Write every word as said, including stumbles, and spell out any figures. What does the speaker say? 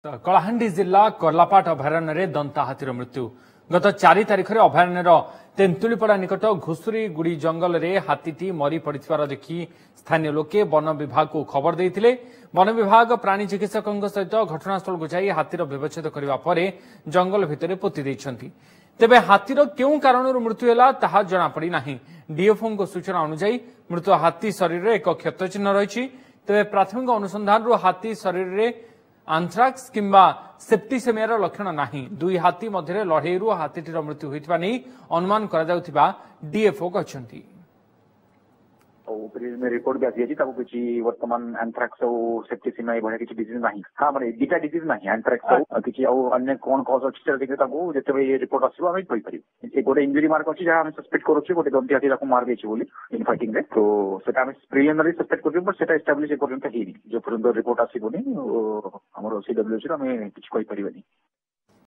କଳାହାଣ୍ଡି ଜିଲ୍ଲା କର୍ଲାପାଟ ଅଭୟାରଣ୍ୟରେ ଦନ୍ତା ହାତୀର ମୃତ୍ୟୁ। ଗତ ଚାରି ତାରିଖରେ ଅଭୟାରଣ୍ୟର ତେନ୍ତୁଳିପଡ଼ା ନିକଟ ଘୁଷୁରୀଗୁଡ଼ି ଜଙ୍ଗଲରେ ହାତୀଟି ମରି ପଡ଼ିଥିବାର ଦେଖି ସ୍ଥାନୀୟ ଲୋକେ ବନ ବିଭାଗକୁ ଖବର ଦେଇଥିଲେ। ବନ ବିଭାଗ ପ୍ରାଣୀ ଚିକିତ୍ସକଙ୍କ ସହିତ ଘଟଣାସ୍ଥଳକୁ ଯାଇ ହାତୀର ବ୍ୟବଚ୍ଛେଦ କରିବା ପରେ ଜଙ୍ଗଲ ଭିତରେ ପୋତି ଦେଇଛନ୍ତି। ତେବେ ହାତୀର କେଉଁ କାରଣରୁ ମୃତ୍ୟୁ ହେଲା ତାହା ଜଣାପଡ଼ି ନାହିଁ। ଡିଏଫ୍ଓଙ୍କ ସୂଚନା ଅନୁଯାୟୀ ମୃତ ହାତୀ ଶରୀରରେ ଏକ କ୍ଷତ ଚିହ୍ନ ରହିଛି। ତେବେ ପ୍ରାଥମିକ ଅନୁସନ୍ଧାନରୁ ହାତୀ ଶରୀରରେ ଆନ୍ଥ୍ରାକ୍ସ କିମ୍ବା ସେପ୍ଟିସେମିଆର ଲକ୍ଷଣ ନାହିଁ। ଦୁଇ ହାତୀ ମଧ୍ୟରେ ଲଢ଼େଇରୁ ହାତୀଟିର ମୃତ୍ୟୁ ହୋଇଥିବା ନେଇ ଅନୁମାନ କରାଯାଉଥିବା ଡିଏଫ୍ଓ କହିଛନ୍ତି। ଆଉ ପ୍ରିଲିମିନାରୀ ରିପୋର୍ଟ ବି ଆସିଯାଇଛି, ତାକୁ କିଛି ବର୍ତ୍ତମାନ ଆନ୍ଥ୍ରାକ୍ସ ଆଉ ସେପ୍ଟିସିମିଆ ଏଭଳିଆ କିଛି ଡିଜିଜ ନାହିଁ। ହଁ, ମାନେ ଦିଟା ଡିଜିଜ ନାହିଁ, ଆନ୍ଥ୍ରାକ୍ସ ଆଉ କିଛି ଆଉ ଅନ୍ୟ କଣ କଜ ଅଛି ସେଟା ଦେଖିଲେ ତାକୁ ଯେତେବେଳେ ଇଏ ରିପୋର୍ଟ ଆସିବ ଆମେ କହିପାରିବୁ। ସେ ଗୋଟେ ଇଞ୍ଜୁରି ମାର୍କ ଅଛି, ଯାହା ଆମେ ସସ୍ପେକ୍ଟ କରୁଛୁ ଗୋଟେ ଦନ୍ତି ହାତୀ ତାକୁ ମାରି ଦେଇଛି ବୋଲି ଇନ୍ ଫାଇଟିଂ ରେ। ତ ସେଟା ଆମେ ପ୍ରିଲିମିନାରୀ ସସ୍ପେକ୍ଟ କରୁଛୁ, ବଟ୍ ସେଟା ଏଷ୍ଟାବ୍ଲିଶ ଏପର୍ଯ୍ୟନ୍ତ ହେଇନି। ଯେ ପର୍ଯ୍ୟନ୍ତ ରିପୋର୍ଟ ଆସିବନି ଆମର ସିଡବ୍ଲ୍ୟୁସି ରୁ ଆମେ କିଛି କହିପାରିବାନି।